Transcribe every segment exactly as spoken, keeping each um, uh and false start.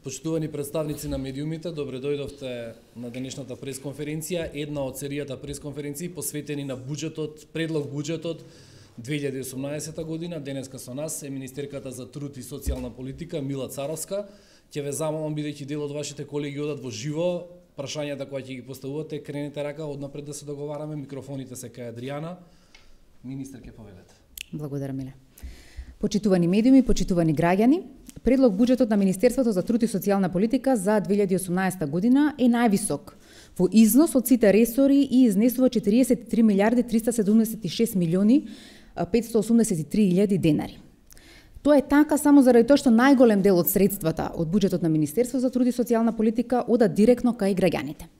Почитувани представници на медиумите, добре дојдовте на денешната пресконференција, една од серијата пресконференции посветени на буџетот, предлог буџетот две илјади и осумнаесета година. Денеска со нас е министерката за труд и социјална политика Мила Царовска. Ќе ве замолам, бидејќи дел од вашите колеги одат во живо, прашањата кои ќе ги поставувате, кренете рака однапред да се договараме. Микрофоните се кај Адријана. Министер, ќе повелете. Благодарам, Миле. Почитувани медиуми, почитувани граѓани, предлог буџетот на Министерството за труд и социјална политика за две илјади и осумнаесета година е највисок во износ од сите ресори и изнесува четириесет и три милијарди триста седумдесет и шест милиони петстотини осумдесет и три илјади денари. Тоа е така само заради тоа што најголем дел од средствата од буџетот на Министерството за труд и социјална политика одат директно кај граѓаните.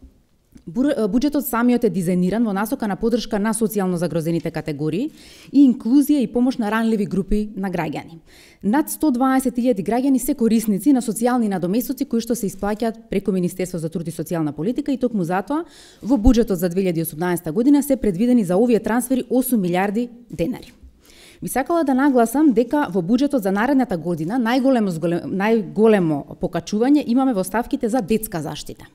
Буџетот самиот е дизајниран во насока на поддршка на социјално загрозените категории и инклузија и помош на ранливи групи на граѓани. Над сто дваесет илјади граѓани се корисници на социјални надоместоци кои што се исплаќаат преку Министерство за труд и социјална политика и токму затоа во буџетот за две илјади и осумнаесета година се предвидени за овие трансфери осум милијарди денари. Би сакала да нагласам дека во буџетот за наредната година најголемо најголемо покачување имаме во ставките за детска заштита.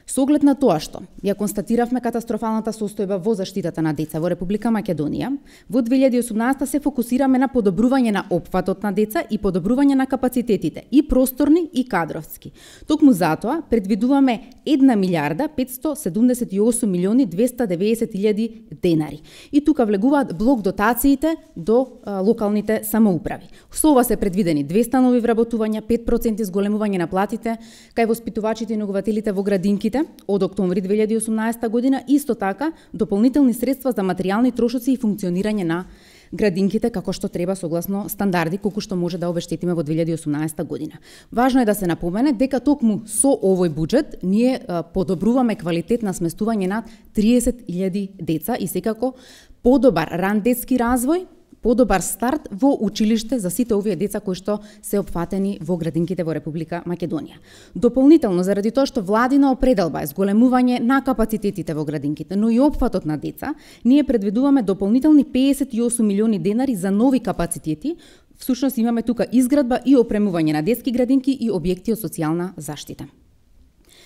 Со оглед на тоа што ја констатиравме катастрофалната состојба во заштитата на деца во Република Македонија, во две илјади и осумнаесета се фокусираме на подобрување на опфатот на деца и подобрување на капацитетите, и просторни и кадровски. Токму затоа предвидуваме една милијарда петстотини седумдесет и осум милиони двеста деведесет илјади денари. И тука влегуваат блок дотациите до а, локалните самоуправи. Со ова се предвидени двеста нови вработувања, пет проценти зголемување на платите кај воспитувачите и негователите во градинките од октомври две илјади и осумнаесета година, исто така дополнителни средства за материјални трошоци и функционирање на градинките како што треба согласно стандарди колку што може да обештетиме во две илјади и осумнаесета година. Важно е да се напомене дека токму со овој буџет ние а, подобруваме квалитет на сместување на триесет илјади деца и секако подобар ран детски развој, подобар старт во училиште за сите овие деца кои што се опфатени во градинките во Република Македонија. Дополнително, заради тоа што владина определба е зголемување на капацитетите во градинките, но и опфатот на деца, ние предвидуваме дополнителни педесет и осум милиони денари за нови капацитети. Всушност имаме тука изградба и опремување на детски градинки и објекти од социјална заштита.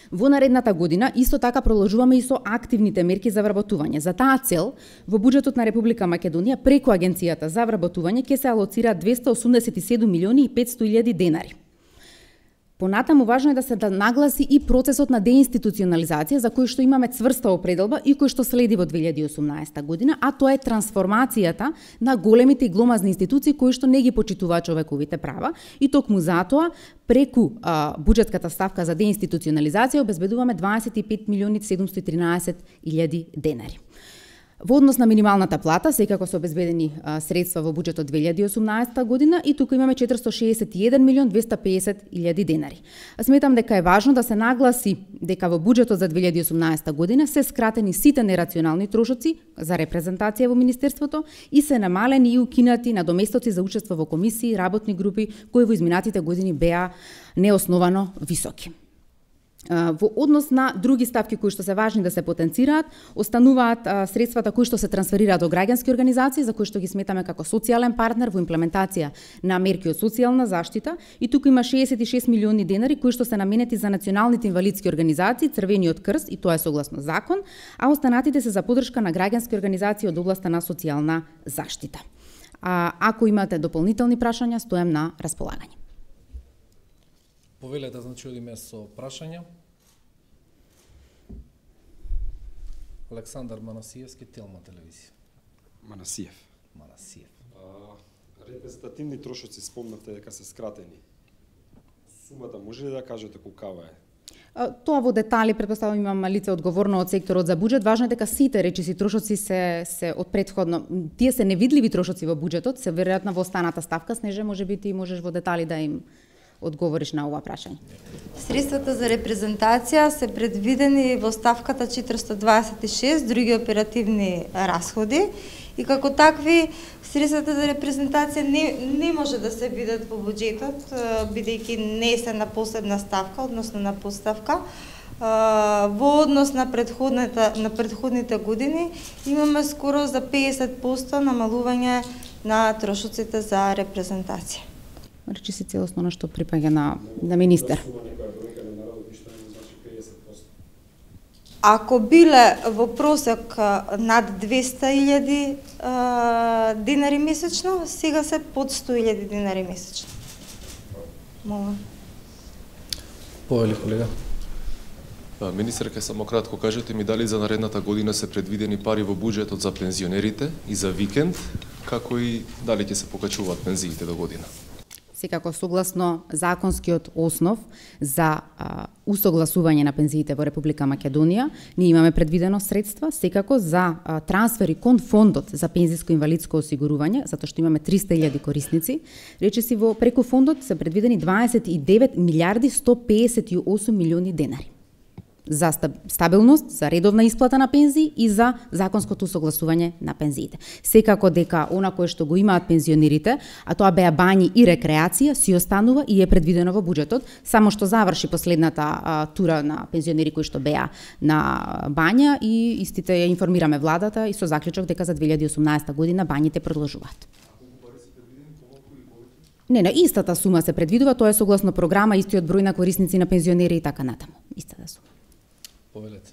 Во наредната година исто така продолжуваме и со активните мерки за вработување. За таа цел, во буџетот на Република Македонија преку Агенцијата за вработување ќе се алоцира двеста осумдесет и седум милиони и петстотини илјади денари. Понатаму важно е да се да нагласи и процесот на деинституционализација за кој што имаме цврста определба и кој што следи во две илјади и осумнаесета година, а тоа е трансформацијата на големите и гломазни институции кои што не ги почитуваат човековите права и токму затоа преку а, буџетската ставка за деинституционализација обезбедуваме дваесет и пет милиони седумстотини и тринаесет илјади денари. Во однос на минималната плата, секако се обезбедени а, средства во буџетот две илјади и осумнаесета година и тука имаме четиристотини шеесет и еден милион двеста и педесет илјади денари. Сметам дека е важно да се нагласи дека во буџетот за две илјади и осумнаесета година се скратени сите нерационални трошоци за репрезентација во Министерството и се намалени и укинати надоместоци за учество во комисии, работни групи кои во изминатите години беа неосновано високи. Во однос на други ставки кои што се важни да се потенцираат, остануваат а, средствата кои што се трансферираат до граѓански организации, за кои што ги сметаме како социјален партнер во имплементација на мерки од социјална заштита, и тука има шеесет и шест милиони денари кои што се наменети за националните инвалидски организации, Црвениот крст, и тоа е согласно закон, а останатите се за поддршка на граѓански организации од областа на социјална заштита. А, ако имате дополнителни прашања, стојам на располагање. Повелете, значи, одиме со прашања. Александар Манасиевски, Телма телевизија. Манасиев. Манасиев. А, репрезентативни трошоци спомнате дека се скратени. Сумата може ли да кажете колкава е? А, тоа во детали, претпоставувам, имам лице одговорно од секторот за буџет. Важно е дека сите речиси трошоци се се од претходно. Тие се невидливи трошоци во буџетот, се веројатно во останата ставка. Снеже, може би ти можеш во детали да им одговориш на ова прашање. Средствата за репрезентација се предвидени во ставката четиристотини дваесет и шест, други оперативни расходи, и како такви средствата за репрезентација не, не може да се видат во буџетот, бидејќи не се на посебна ставка, односно на подставка. Во однос на предходната на предходните години имаме скоро за педесет проценти намалување на трошоците за репрезентација. Речи се целосно на што припаѓа на, на министер. ако биле во просек над двесте илјади денари месечно, сега се под сто илјади денари месечно. Мола. Повели колега. Да, министерка, само кратко кажете ми дали за наредната година се предвидени пари во буџетот за пензионерите и за викенд, како и дали ќе се покачуваат пензиите до година? Секако согласно законскиот основ за а, усогласување на пензиите во Република Македонија, ние имаме предвидено средства секако за а, трансфери кон фондот за пензиско-инвалидско осигурување, затоа што имаме триста илјади корисници. Речиси во преку фондот се предвидени дваесет и девет милиарди сто песет и осум милиони денари за стабилност, за редовна исплата на пензии и за законското согласување на пензиите. Секако дека она кое што го имаат пензионерите, а тоа беа бањи и рекреација, си останува и е предвидено во буџетот, само што заврши последната а, тура на пензионери кои што беа на бања и истите ја информираме владата и со заклучок дека за две илјади и осумнаесета година бањите продолжуваат. Не, на истата сума се предвидува, тоа е согласно програма, истиот број на корисници на пензионери и така натаму. Истата сума. Повелете.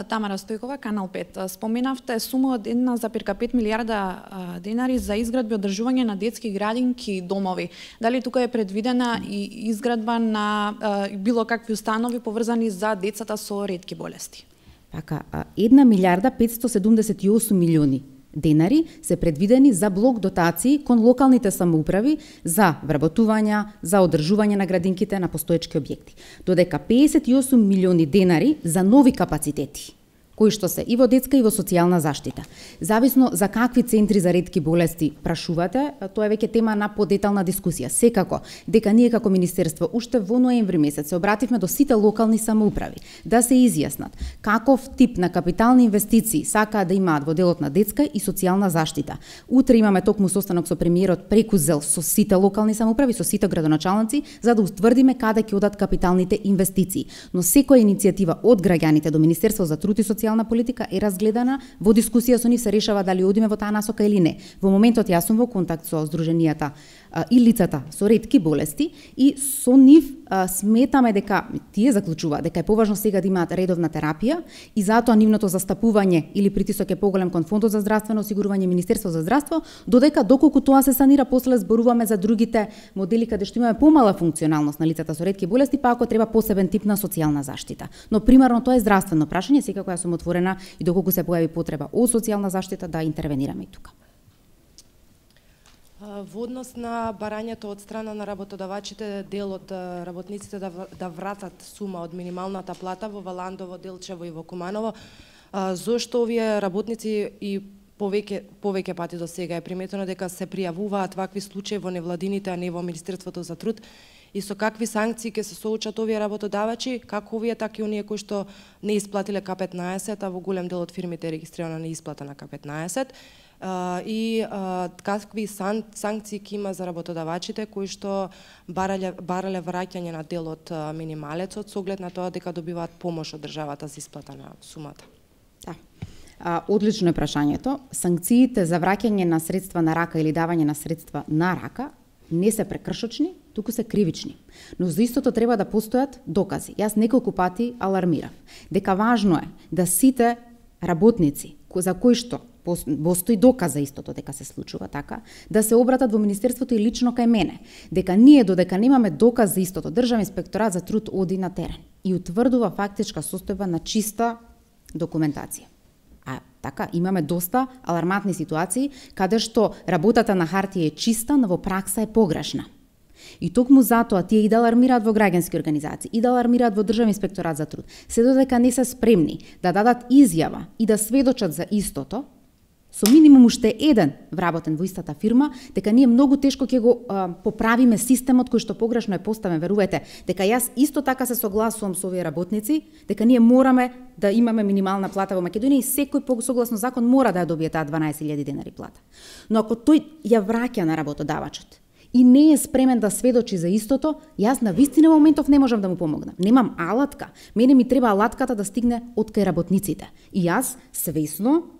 Тамара Стојкова, Канал пет. Споменавте сума од една запирка пет милиарда денари за изградба и одржување на детски градинки и домови. Дали тука е предвидена и изградба на било какви установи поврзани за децата со ретки болести? Така, една милиарда петстотини седумдесет и осум милиони денари се предвидени за блок дотации кон локалните самоуправи за вработувања, за одржување на градинките на постоечки објекти. Додека песет и осум милиони денари за нови капацитети, кои што се и во детска и во социјална заштита. Зависно за какви центри за ретки болести прашувате, тоа е веќе тема на подетална дискусија. Секако, дека ние како министерство уште во ноември месец се обративме до сите локални самоуправи да се изјаснат каков тип на капитални инвестиции сакаат да имаат во делот на детска и социјална заштита. Утре имаме токму состанок со премиерот преку зел со сите локални самоуправи, со сите градоначалници, за да утврдиме каде ќе одат капиталните инвестиции. Но секоја иницијатива од граѓаните до Министерство за труд и социјална политика е разгледана, во дискусија со нив се решава дали одиме во таа насока или не. Во моментот јас сум во контакт со здруженијата а, и лицата со ретки болести и со нив а, сметаме дека тие заклучуваат дека е поважно сега да имаат редовна терапија и затоа нивното застапување или притисок е поголем кон Фондот за здравствено осигурување, Министерство за здравство, додека доколку тоа се санира, после зборуваме за другите модели каде што имаме помала функционалност на лицата со ретки болести, па ако треба посебен тип на социјална заштита. Но примарно тоа е здравствено прашање, секако јас сум отворена и доколку се појави потреба од социјална заштита да интервенираме и тука. Во однос на барањето од страна на работодавачите, дел од работниците да, да вратат сума од минималната плата во Валандово, Делчево и во Куманово, зошто овие работници и повеќе повеќе пати до сега е приметено дека се пријавуваат вакви случаи во невладините, а не во Министерството за труд, и со какви санкции ќе се соочат овие работодавачи, како овие, така и оние кои што не исплатиле К петнаесет, а во голем дел од фирмите е регистрирана неисплата на К петнаесет, и какви сан, санкции ќе има за работодавачите кои што барале, барале враќање на дел од минималецот со оглед на тоа дека добиваат помош од државата за исплата на сумата. Да. А, одлично е прашањето. Санкциите за враќање на средства на рака или давање на средства на рака не се прекршочни, туку се кривични. Но за истото треба да постојат докази. Јас неколку пати алармирав дека важно е да сите работници за кои што постои доказ за истото дека се случува така, да се обратат во Министерството и лично кај мене, дека ние додека немаме доказ за истото, Државен инспекторат за труд оди на терен и утврдува фактичка состојба на чиста документација. А така, имаме доста алармантни ситуации каде што работата на хартија е чиста, но во пракса е погрешна. И токму затоа тие и да алармираат во граѓански организации, и да алармираат во Државен инспекторат за труд, се додека не се спремни да дадат изјава и да сведочат за истото, со минимум уште еден вработен во истата фирма, дека ние многу тешко ќе го а, поправиме системот кој што погрешно е поставен. Верувате, дека јас исто така се согласувам со овие работници, дека ние мораме да имаме минимална плата во Македонија и секој по согласно закон мора да ја добие таа дванаесет илјади денари плата. Но ако тој ја враќа на работодавачот и не е спремен да сведочи за истото, јас на вистина во моментов не можам да му помогнам. Немам алатка. Мене ми треба алатката да стигне од кај работниците. И јас свесно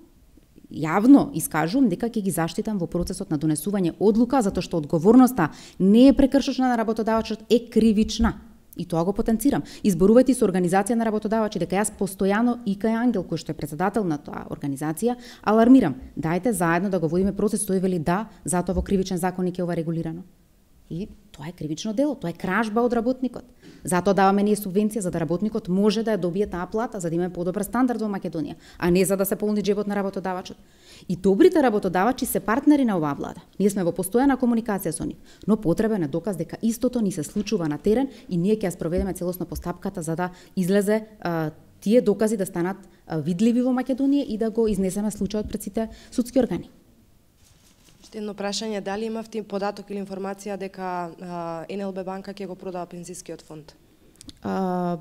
јавно искажувам дека ќе ги заштитам во процесот на донесување одлука, затоа што одговорноста не е прекршочна на работодавачот, е кривична. И тоа го потенцирам. Изборувајте со организација на работодавачи, дека јас постојано и кај Ангел, кој што е председател на тоа организација, алармирам. Дајте заедно да го водиме процес, тој вели да, затоа во кривичен законник е ова регулирано. И тоа е кривично дело, тоа е кражба од работникот. Затоа даваме ние субвенција за да работникот може да ја добие таа плата, за да имаме подобар стандард во Македонија, а не за да се полни джебот на работодавачот. И добрите работодавачи се партнери на оваа влада. Ние сме во постојана комуникација со нив, но потребен е доказ дека истото ни се случува на терен и ние ќе ја спроведеме целосно постапката за да излезе а, тие докази да станат а, видливи во Македонија и да го изнесеме случајот пред сите судски органи. Едно прашање, дали имавте податок или информација дека Ен Ел Бе банка ќе го продава пензискиот фонд? А,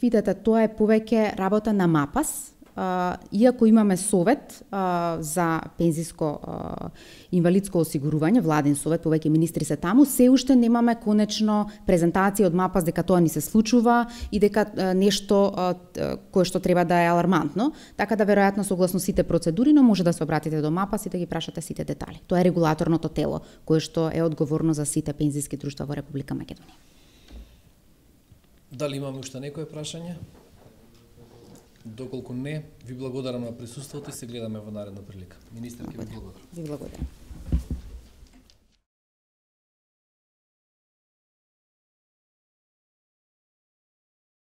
видете, тоа е повеќе работа на МАПАС. А, иако имаме совет а, за пензиско а, инвалидско осигурување, владен совет, повеќе министри се таму, се уште немаме конечно презентација од МАПАС дека тоа ни се случува и дека а, нешто а, кое што треба да е алармантно, така да веројатно согласно сите процедури, но може да се обратите до МАПАС и да ги прашате сите детали. Тоа е регулаторното тело кое што е одговорно за сите пензиски друштва во Република Македонија. Дали имаме уште некое прашање? Доколку не, ви благодарам на присуството и се гледаме во наредна прилика. Министер, ќе ви благодарам. Ви благодарам.